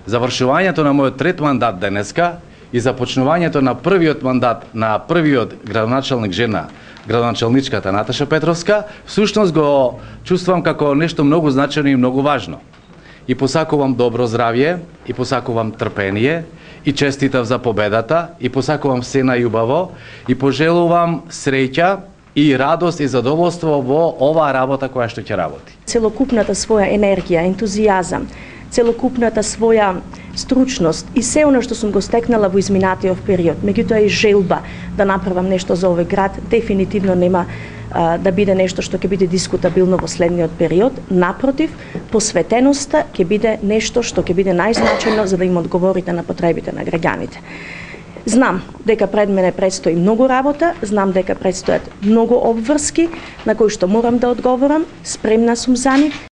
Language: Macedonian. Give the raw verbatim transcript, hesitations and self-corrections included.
завршувањето на мојот трет мандат денеска и започнувањето на првиот мандат на првиот градоначалник жена, градоначалничката Наташа Петровска, всушност го чувствувам како нешто многу значајно и многу важно. И посакувам добро здравје, и посакувам трпение, и честитав за победата, и посакувам се најубаво, и пожелувам среќа и радост и задоволство во оваа работа која што ќе работи. Целокупната своја енергија, ентузијазам, целокупната своја стручност и се оно што сум го стекнала во изминатиот период, меѓутоа и желба да направам нешто за овој град, дефинитивно нема а, да биде нешто што ќе биде дискутабилно во следниот период. Напротив, посветеноста ќе биде нешто што ќе биде најзначајно за да им одговорите на потребите на граѓаните. Знам дека пред мене предстои многу работа, знам дека предстојат многу обврски на кои што морам да одговорам, спремна сум за нив.